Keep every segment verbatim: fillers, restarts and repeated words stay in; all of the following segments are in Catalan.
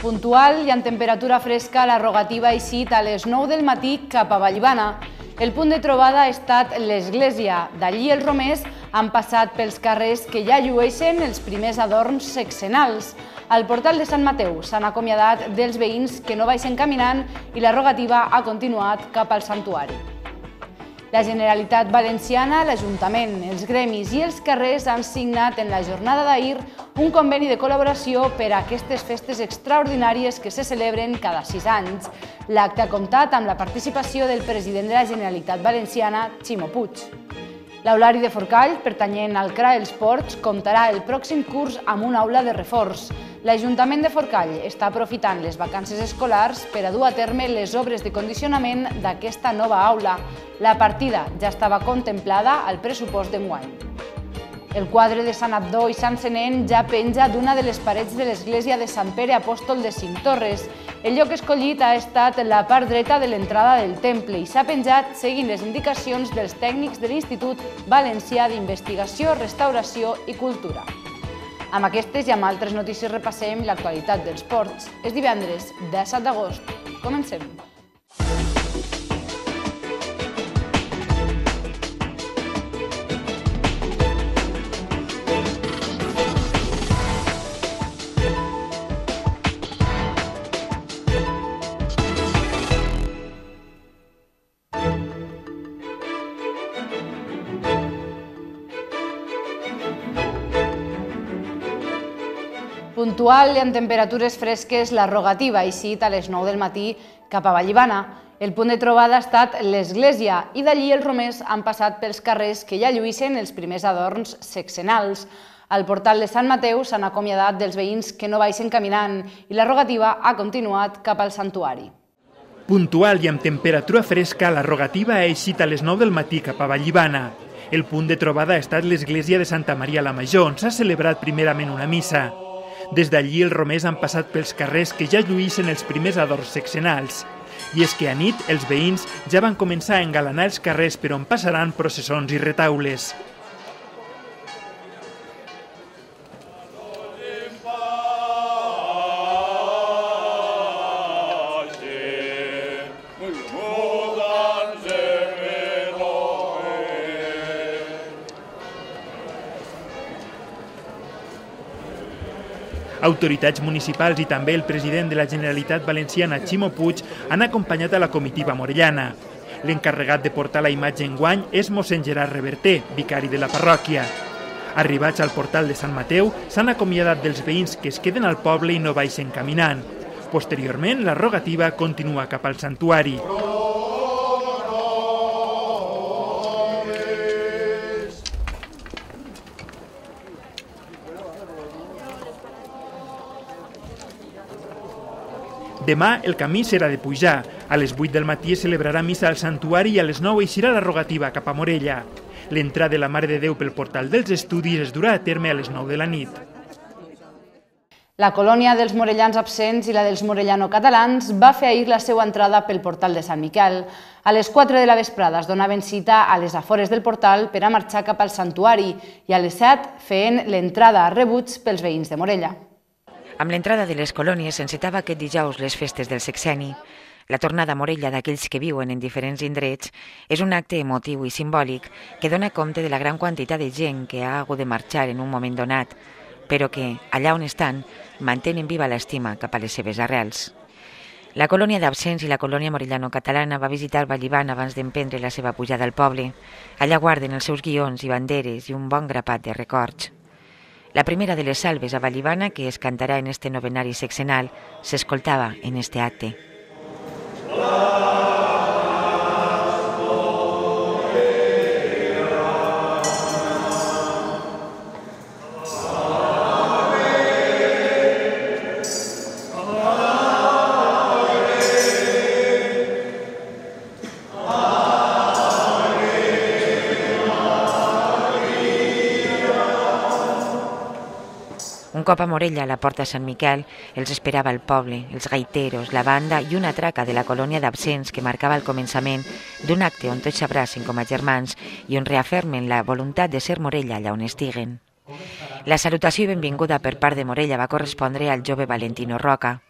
Puntual i amb temperatura fresca, la rogativa ha eixit a les nou del matí cap a Vallibana. El punt de trobada ha estat l'església. D'allí els romers han passat pels carrers que ja llueixen els primers adorns sexenals. Al portal de Sant Mateu s'han acomiadat dels veïns que no baixen caminant i la rogativa ha continuat cap al santuari. La Generalitat Valenciana, l'Ajuntament, els gremis i els carrers han signat en la jornada d'ahir un conveni de col·laboració per a aquestes festes extraordinàries que se celebren cada sis anys. L'acte ha comptat amb la participació del president de la Generalitat Valenciana, Ximo Puig. L'Aulari de Forcall, pertanyent al C R A Els Ports, comptarà el pròxim curs amb una aula de reforç. L'Ajuntament de Forcall està aprofitant les vacances escolars per a dur a terme les obres de condicionament d'aquesta nova aula. La partida ja estava contemplada al pressupost d'enguany. El quadre de Sant Abdó i Sant Senén ja penja d'una de les parets de l'església de Sant Pere Apòstol de Cinctorres. El lloc escollit ha estat la part dreta de l'entrada del temple i s'ha penjat seguint les indicacions dels tècnics de l'Institut Valencià d'Investigació, Restauració i Cultura. Amb aquestes i amb altres notícies repassem l'actualitat dels ports. És divendres, disset d'agost. Comencem. Puntual i amb temperatures fresques, la rogativa ha eixit a les nou del matí cap a Vallibana. El punt de trobada ha estat l'església i d'allí els romers han passat pels carrers que ja lluïssen els primers adorns sexenals. Al portal de Sant Mateu s'han acomiadat dels veïns que no baixen caminant i la rogativa ha continuat cap al santuari. Puntual i amb temperatura fresca, la rogativa ha eixit a les nou del matí cap a Vallibana. El punt de trobada ha estat l'església de Santa Maria la Major, on s'ha celebrat primerament una missa. Des d'allí els romers han passat pels carrers que ja lluïssen els primers adorns sexenals. I és que a nit els veïns ja van començar a engalanar els carrers per on passaran processons i retaules. Autoritats municipals i també el president de la Generalitat Valenciana, Ximo Puig, han acompanyat a la comitiva morellana. L'encarregat de portar la imatge enguany és mossèn Gerard Reverter, vicari de la parròquia. Arribats al portal de Sant Mateu, s'han acomiadat dels veïns que es queden al poble i no baixen caminant. Posteriorment, la rogativa continua cap al santuari. Demà el camí serà de pujar. A les vuit del matí es celebrarà missa al santuari i a les nou eixirà la rogativa cap a Morella. L'entrada de la Mare de Déu pel portal dels estudis es durà a terme a les nou de la nit. La colònia dels morellans absents i la dels morellano-catalans va fer ahir la seva entrada pel portal de Sant Miquel. A les quatre de la vesprada es donaven cita a les afores del portal per a marxar cap al santuari i a les set feien l'entrada a rebuig pels veïns de Morella. Amb l'entrada de les colònies s'encetava aquest dijous les festes del sexeni. La tornada a Morella d'aquells que viuen en diferents indrets és un acte emotiu i simbòlic que dona compte de la gran quantitat de gent que ha hagut de marxar en un moment donat, però que, allà on estan, mantenen viva l'estima cap a les seves arrels. La colònia d'absents i la colònia morellano-catalana va visitar Vallibana abans d'emprendre la seva pujada al poble. Allà guarden els seus guions i banderes i un bon grapat de records. La primera de les salves a Vallibana, que es cantarà en este novenari sexenal, s'escoltava en este acte. Un cop a Morella, a la porta de Sant Miquel, els esperava el poble, els gaiteros, la banda i una traca de la colònia d'absents que marcava el començament d'un acte on tots s'abracen com a germans i on reafermen la voluntat de ser Morella allà on estiguen. La salutació i benvinguda per part de Morella va correspondre al jove Valentino Roca.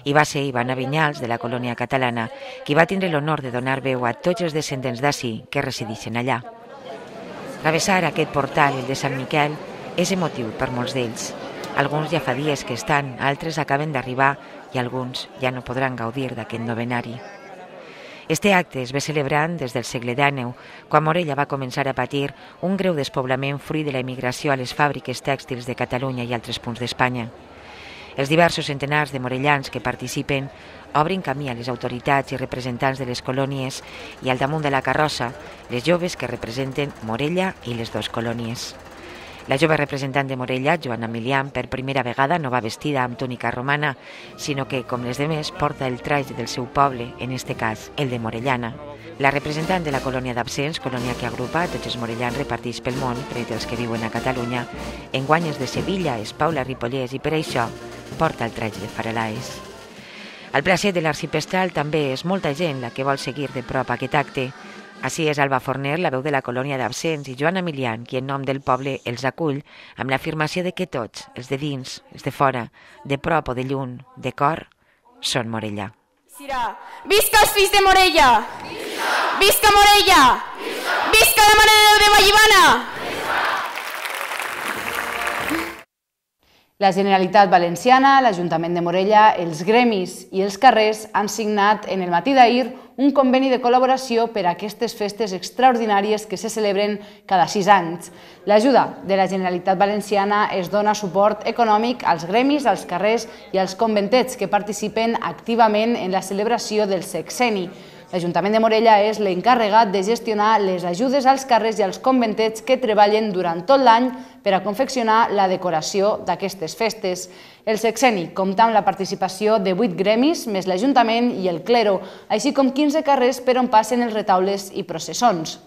I va ser Ivana Vinyals, de la colònia catalana, qui va tindre l'honor de donar veu a tots els descendents d'ací que resideixen allà. Travessar aquest portal, el de Sant Miquel, és emotiu per molts d'ells. Alguns ja fa dies que estan, altres acaben d'arribar i alguns ja no podran gaudir d'aquest novenari. Este acte es va celebrant des del segle dènou, quan Morella va començar a patir un greu despoblament fruit de la emigració a les fàbriques tèxtils de Catalunya i altres punts d'Espanya. Els diversos centenars de morellans que participen obrin camí a les autoritats i representants de les colònies i al damunt de la carrossa les joves que representen Morella i les dues colònies. La jove representant de Morella, Joana Milian, per primera vegada no va vestida amb túnica romana, sinó que, com les demés, porta el traje del seu poble, en este cas, el de Morellana. La representant de la colònia d'Absents, colònia que agrupa tots els morellans repartits pel món, tret els que viuen a Catalunya, enguany és de Sevilla, és Paula Ripollès i per això porta el traje de Faralaes. Al placer de l'arxipestral també és molta gent la que vol seguir de prop aquest acte. Així és Alba Forner, la veu de la colònia d'Absents, i Joana Milian, qui en nom del poble els acull amb l'afirmació de que tots, els de dins, els de fora, de prop o de lluny, de cor, són Morella. Visca els fills de Morella! Visca Morella! Visca la Mare de Déu de Vallibana! La Generalitat Valenciana, l'Ajuntament de Morella, els gremis i els carrers han signat en el matí d'ahir un conveni de col·laboració per a aquestes festes extraordinàries que se celebren cada sis anys. L'ajuda de la Generalitat Valenciana es dona suport econòmic als gremis, als carrers i als conventets que participen activament en la celebració del sexenni. L'Ajuntament de Morella és l'encarregat de gestionar les ajudes als carrers i als conventets que treballen durant tot l'any per a confeccionar la decoració d'aquestes festes. El sexenni compta amb la participació de vuit gremis, més l'Ajuntament i el clero, així com quinze carrers per on passen els retaules i processons.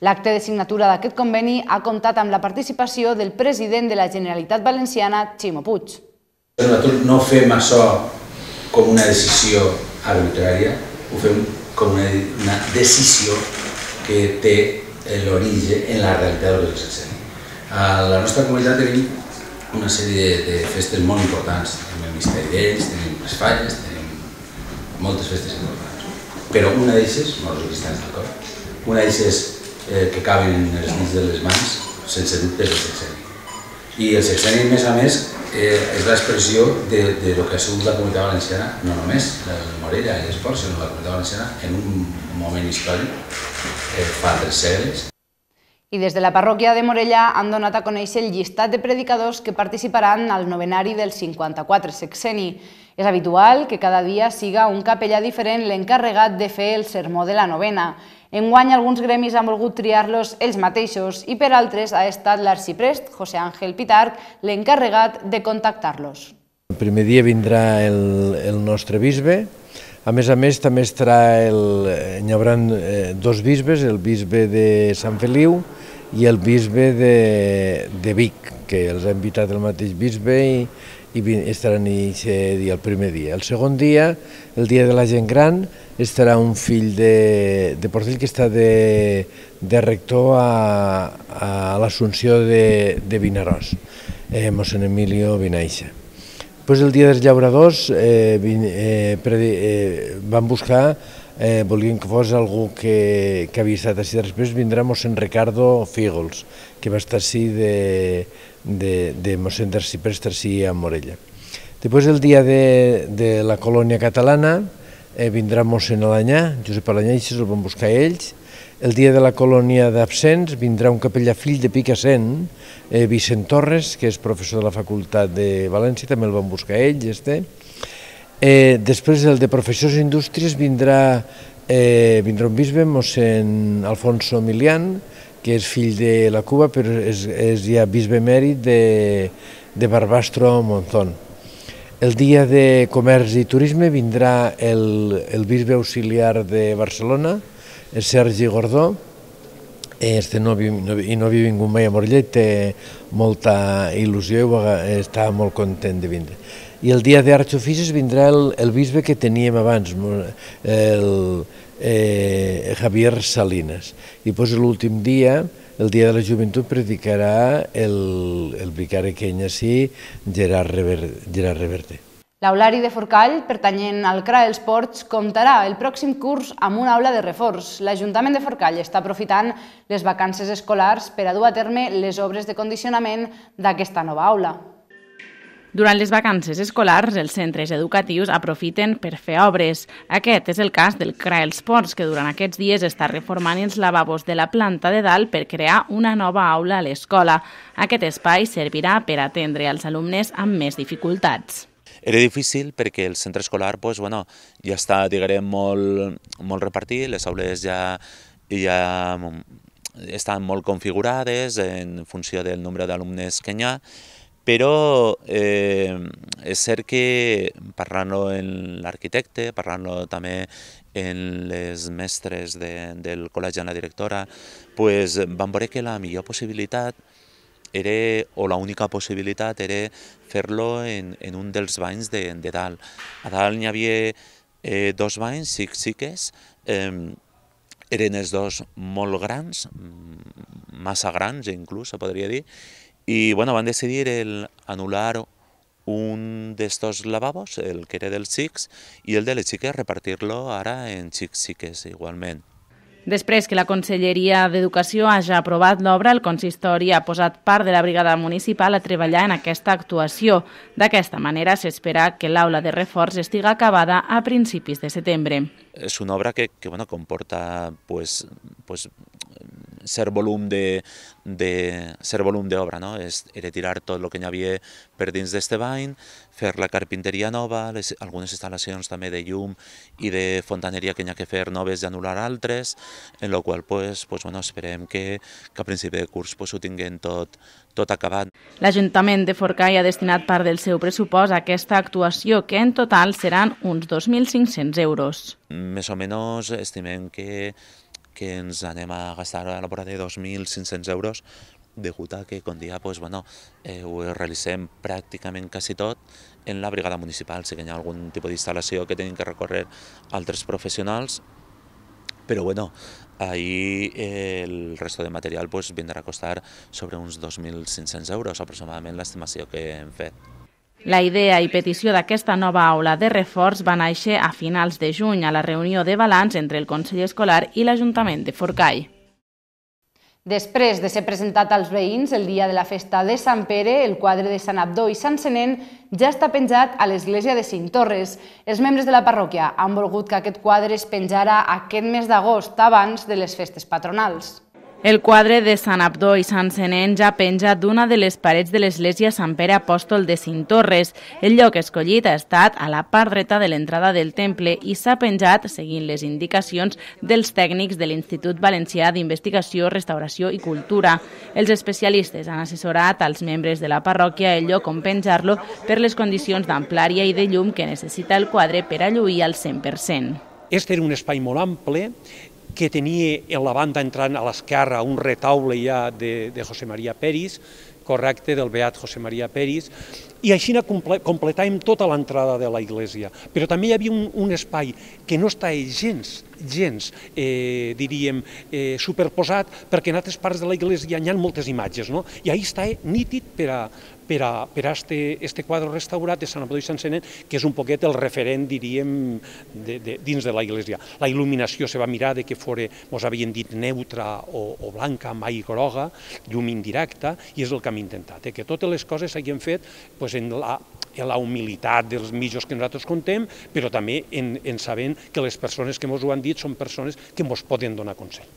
L'acte de signatura d'aquest conveni ha comptat amb la participació del president de la Generalitat Valenciana, Ximo Puig. Nosaltres no fem això com una decisió arbitrària, ho fem com una, una decisió que té l'origen en la realitat del sexenni. A la nostra comunitat tenim una sèrie de, de festes molt importants. Tenim el Misteri d'Ells, tenim les Falles, tenim moltes festes importants. Però una d'elles, no els cristians d'acord, una d'elles eh, que caben en els dits de les mans, sense dubte és el sexenni. I el sexenni, a més a més, eh, és l'expressió de, de lo que ha sigut la Comunitat Valenciana, no només el Morella i l'Esport, sinó la Comunitat Valenciana en un moment històric, eh, fa tres segles. I des de la parròquia de Morella han donat a conèixer el llistat de predicadors que participaran al novenari del cinquanta-quatre sexenni. És habitual que cada dia siga un capellà diferent l'encarregat de fer el sermó de la novena. Enguany alguns gremis han volgut triar-los ells mateixos i per altres ha estat l'arxiprest José Ángel Pitarch l'encarregat de contactar-los. El primer dia vindrà el, el nostre bisbe. A més a més també estarà el, hi haurà dos bisbes, el bisbe de Sant Feliu i el bisbe de, de Vic, que els ha invitat el mateix bisbe i, i estaran aquest dia, el primer dia. El segon dia, el dia de la gent gran, estarà un fill de, de Portell que està de, de rector a, a l'Assumpció de, de Vinaròs, eh, mossèn Emilio Vinaixa. Després el dia dels llauradors eh, eh, eh, van buscar, eh, volien que fos algú que, que havia estat així. Després vindrà mossèn Ricardo Fígols, que va estar així de, de, de mossèn d'Arxiprest així a Morella. Després el dia de, de la colònia catalana eh, vindrà mossèn Alanyà, Josep Alanyà, i se'l van buscar ells. El dia de la colònia d'Absents vindrà un capellà fill de Picassent, eh, Vicent Torres, que és professor de la Facultat de València, també el van buscar ells. Este. Eh, després el de Professors i Indústries vindrà, eh, vindrà un bisbe, mossèn Alfonso Milian, que és fill de la Cuba, però és, és ja bisbe emèrit de, de Barbastro Monzón. El dia de Comerç i Turisme vindrà el, el bisbe auxiliar de Barcelona, el Sergi Gordó, este no, no, i no havia vingut mai a Morella, té molta il·lusió i està molt content de vindre. I el dia d'Arts i Oficis vindrà el, el bisbe que teníem abans, el eh, Javier Salinas. I doncs l'últim dia, el dia de la joventut, predicarà el, el vicari kenyací Gerard Rever, Gerard Reverte. L'aulari de Forcall, pertanyent al C R A Els Ports, comptarà el pròxim curs amb una aula de reforç. L'Ajuntament de Forcall està aprofitant les vacances escolars per a dur a terme les obres de condicionament d'aquesta nova aula. Durant les vacances escolars, els centres educatius aprofiten per fer obres. Aquest és el cas del C R A Els Ports, que durant aquests dies està reformant els lavabos de la planta de dalt per crear una nova aula a l'escola. Aquest espai servirà per atendre als alumnes amb més dificultats. Era difícil perquè el centre escolar pues, bueno, ja està diguem, molt, molt repartit, les aules ja, ja estan molt configurades en funció del nombre d'alumnes que hi ha, però eh, és cert que parlant-lo en l'arquitecte, parlant-lo també en les mestres de, del col·legi, en la directora, pues, vam veure que la millor possibilitat era, o l'única possibilitat era fer-lo en, en un dels banys de, de dalt. A dalt hi havia eh, dos banys, xic-xiques, eh, eren els dos molt grans, massa grans inclús, se podria dir, i bueno, van decidir el anul·lar un d'estos lavabos, el que era dels xics, i el de les xiques repartir-lo ara en xic-xiques igualment. Després que la Conselleria d'Educació hagi aprovat l'obra, el consistori ha posat part de la brigada municipal a treballar en aquesta actuació. D'aquesta manera s'espera que l'aula de reforç estigui acabada a principis de setembre. És una obra que, que bueno, comporta pues, pues, cert volum de, de cert volum d'obra, no? És, era tirar tot el que hi havia per dins d'este bany, fer la carpinteria nova, les, algunes instal·lacions també de llum i de fontaneria que hi ha que fer noves i anul·lar altres, en la qual pues, pues, bueno, esperem que, que a principi de curs pues, ho tinguem tot, tot acabat. L'Ajuntament de Forcall ha destinat part del seu pressupost a aquesta actuació, que en total seran uns dos mil cinc-cents euros. Més o menys estimem que que ens anem a gastar a la vora de dos mil cinc-cents euros, degut a que, com dia, pues, bueno, eh, ho realitzem pràcticament quasi tot en la brigada municipal. Si hi ha algun tipus d'instal·lació que tenim que recórrer altres professionals, però bueno, ahí eh, el resto de material pues, vindrà a costar sobre uns dos mil cinc-cents euros, aproximadament l'estimació que hem fet. La idea i petició d'aquesta nova aula de reforç va néixer a finals de juny a la reunió de balanç entre el Consell Escolar i l'Ajuntament de Forcall. Després de ser presentat als veïns el dia de la festa de Sant Pere, el quadre de Sant Abdó i Sant Senén ja està penjat a l'església de Cintorres. Els membres de la parròquia han volgut que aquest quadre es penjara aquest mes d'agost, abans de les festes patronals. El quadre de Sant Abdó i Sant Senén ja penja d'una de les parets de l'església Sant Pere Apòstol de Cintorres. El lloc escollit ha estat a la part dreta de l'entrada del temple i s'ha penjat seguint les indicacions dels tècnics de l'Institut Valencià d'Investigació, Restauració i Cultura. Els especialistes han assessorat als membres de la parròquia el lloc on penjar-lo per les condicions d'amplària i de llum que necessita el quadre per a lluir al cent per cent. Este era un espai molt ample, que tenia a la banda entrant a l'esquerra un retaule ja de, de José María Peris, correcte, del beat José María Peris, i així completàvem tota l'entrada de la iglesia. Però també hi havia un, un espai que no està gens, gens, eh, diríem, eh, superposat, perquè en altres parts de la iglesia hi ha moltes imatges, no? I ahí està nítid per a, per a, per a este, este quadre restaurat de Sant Abdó i Sant Senén, que és un poquet el referent, diríem, de, de, dins de la iglesia. La il·luminació se va mirar de que fora, mos havien dit, neutra o, o blanca, mai groga, llum indirecta, i és el que hem intentat, eh? Que totes les coses s'hagin fet pues, en la en la humilitat dels mitjos que nosaltres contem, però també en, en sabent que les persones que ens ho han dit són persones que ens poden donar consell.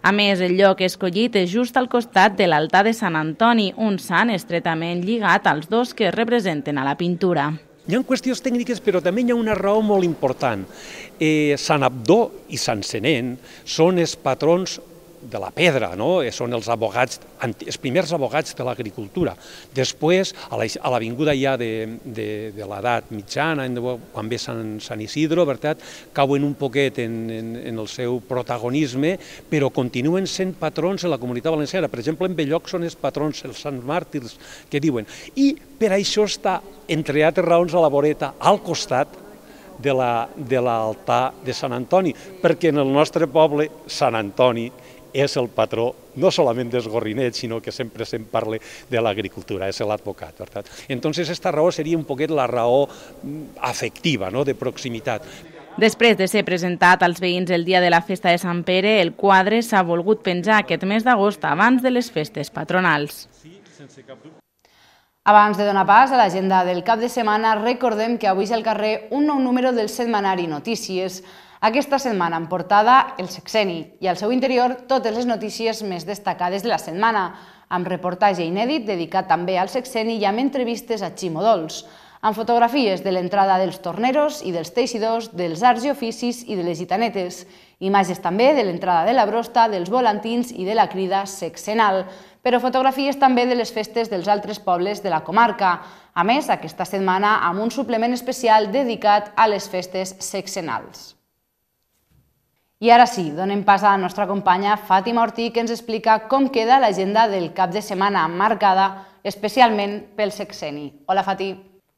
A més, el lloc escollit és just al costat de l'altar de Sant Antoni, un sant estretament lligat als dos que es representen a la pintura. Hi ha qüestions tècniques, però també hi ha una raó molt important. Eh, Sant Abdó i Sant Senén són els patrons de la pedra, no? Són els abogats, els primers abogats de l'agricultura. Després, a l'avinguda ja de, de, de l'edat mitjana, quan ve Sant, Sant Isidro, veritat, cauen un poquet en, en, en el seu protagonisme, però continuen sent patrons en la comunitat valenciana. Per exemple, en Belloc són els patrons, els sants màrtirs, que diuen. I per això està, entre altres raons, a la voreta, al costat de l'altar de Sant Antoni, perquè en el nostre poble, Sant Antoni és el patró no solament dels gorrinets, sinó que sempre se'n parla de l'agricultura, és l'advocat. Entonces, esta raó seria un poquet la raó afectiva, no?, de proximitat. Després de ser presentat als veïns el dia de la festa de Sant Pere, el quadre s'ha volgut penjar aquest mes d'agost abans de les festes patronals. Abans de donar pas a l'agenda del cap de setmana, recordem que avui és al carrer un nou número del setmanari Notícies. Aquesta setmana en portada el Sexeni i al seu interior totes les notícies més destacades de la setmana, amb reportatge inèdit dedicat també al Sexeni i amb entrevistes a Ximo Dols, amb fotografies de l'entrada dels torneros i dels teixidors, dels arts i oficis i de les gitanetes, imatges també de l'entrada de la brosta, dels volantins i de la crida sexenal, però fotografies també de les festes dels altres pobles de la comarca. A més, aquesta setmana amb un suplement especial dedicat a les festes sexenals. I ara sí, donem pas a la nostra companya Fàtima Ortí, que ens explica com queda l'agenda del cap de setmana marcada especialment pel sexeni. Hola, Fati.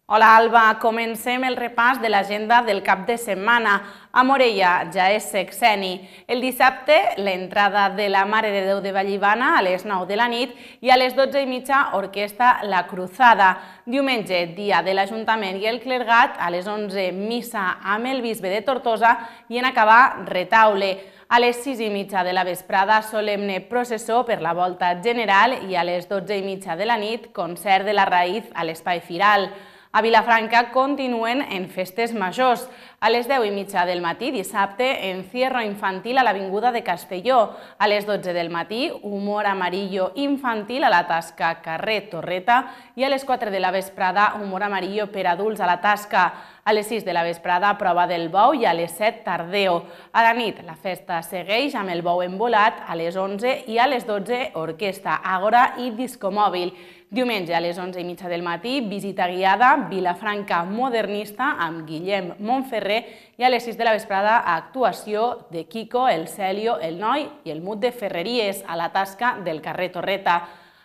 Hola, Alba. Comencem el repàs de l'agenda del cap de setmana. A Morella ja és sexeni. El dissabte, l'entrada de la Mare de Déu de Vallibana a les nou de la nit i a les dotze i mitja orquestra La Cruzada. Diumenge, dia de l'Ajuntament i el clergat, a les onze missa amb el bisbe de Tortosa i en acabar retaule. A les sis i mitja de la vesprada, solemne processó per la volta general i a les dotze i mitja de la nit, concert de la Raïz a l'Espai Firal. A Vilafranca continuen en festes majors. A les deu i mitja del matí, dissabte, encierro infantil a l'Avinguda de Castelló. A les dotze del matí, humor amarillo infantil a la Tasca carrer Torreta i a les quatre de la vesprada, humor amarillo per adults a la Tasca. A les sis de la vesprada, prova del bou i a les set tardeo. A la nit, la festa segueix amb el bou embolat a les onze i a les dotze orquestra, àgora i discomòbil. Diumenge a les onze i mitja del matí, visita guiada Vilafranca modernista amb Guillem Montferrer i a les sis de la vesprada actuació de Kiko, el Celio, el Noi i el Mut de Ferreries a la Tasca del carrer Torreta.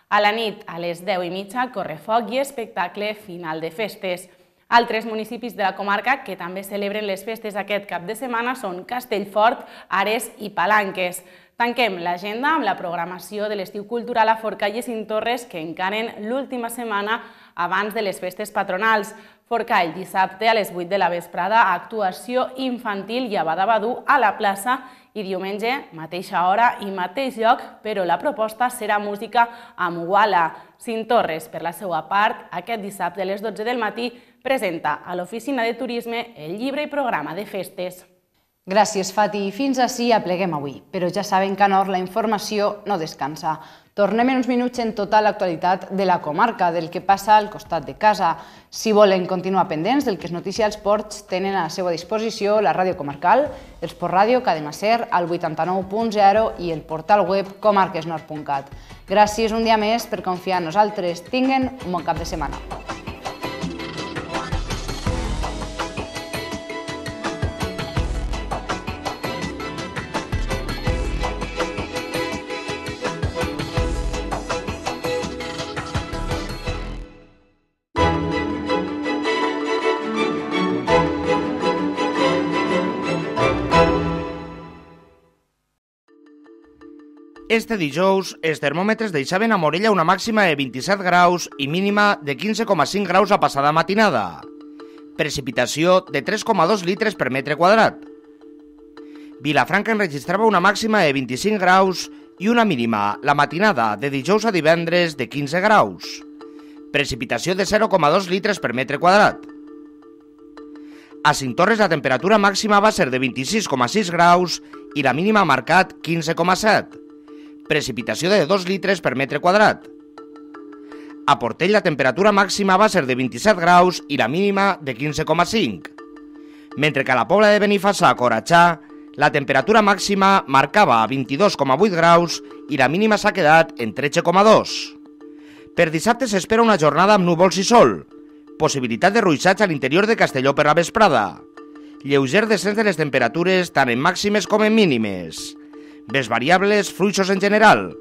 A la nit, a les deu i mitja, correfoc i espectacle final de festes. Altres municipis de la comarca que també celebren les festes aquest cap de setmana són Castellfort, Ares i Palanques. Tanquem l'agenda amb la programació de l'estiu cultural a Forcall i Cinctorres que encaren l'última setmana abans de les festes patronals. Forcall, dissabte a les vuit de la vesprada, actuació infantil i abadabadú a la plaça i diumenge, mateixa hora i mateix lloc, però la proposta serà música amb Uala. Cinctorres, per la seva part, aquest dissabte a les dotze del matí, presenta a l'Oficina de Turisme el llibre i programa de festes. Gràcies, Fati. Fins ací apleguem avui, però ja saben que a Nord la informació no descansa. Tornem en uns minuts en tota l'actualitat de la comarca, del que passa al costat de casa. Si volen continuar pendents del que es noticia als ports, tenen a la seva disposició la ràdio comarcal, el Sport Ràdio, Cadena Ser, al vuitanta-nou punt zero i el portal web comarquesnord punt cat. Gràcies un dia més per confiar en nosaltres. Tinguen un bon cap de setmana. Este dijous, els termòmetres deixaven a Morella una màxima de vint-i-set graus i mínima de quinze coma cinc graus a passada matinada. Precipitació de tres coma dos litres per metre quadrat. Vilafranca enregistrava una màxima de vint-i-cinc graus i una mínima, la matinada, de dijous a divendres, de quinze graus. Precipitació de zero coma dos litres per metre quadrat. A Cinctorres la temperatura màxima va ser de vint-i-sis coma sis graus i la mínima ha marcat quinze coma set. Precipitació de dos litres per metre quadrat. A Portell la temperatura màxima va ser de vint-i-set graus i la mínima de quinze coma cinc. Mentre que a la Pobla de Benifassà, a Coratxà, la temperatura màxima marcava vint-i-dos coma vuit graus i la mínima s'ha quedat en tretze coma dos. Per dissabte s'espera una jornada amb núvols i sol, possibilitat de ruixats a l'interior de Castelló per la vesprada. Lleuger descens de les temperatures tant en màximes com en mínimes. Vents variables, fluixos en general.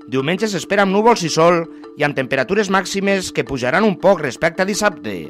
Diumenge s'espera amb núvols i sol i amb temperatures màximes que pujaran un poc respecte a dissabte.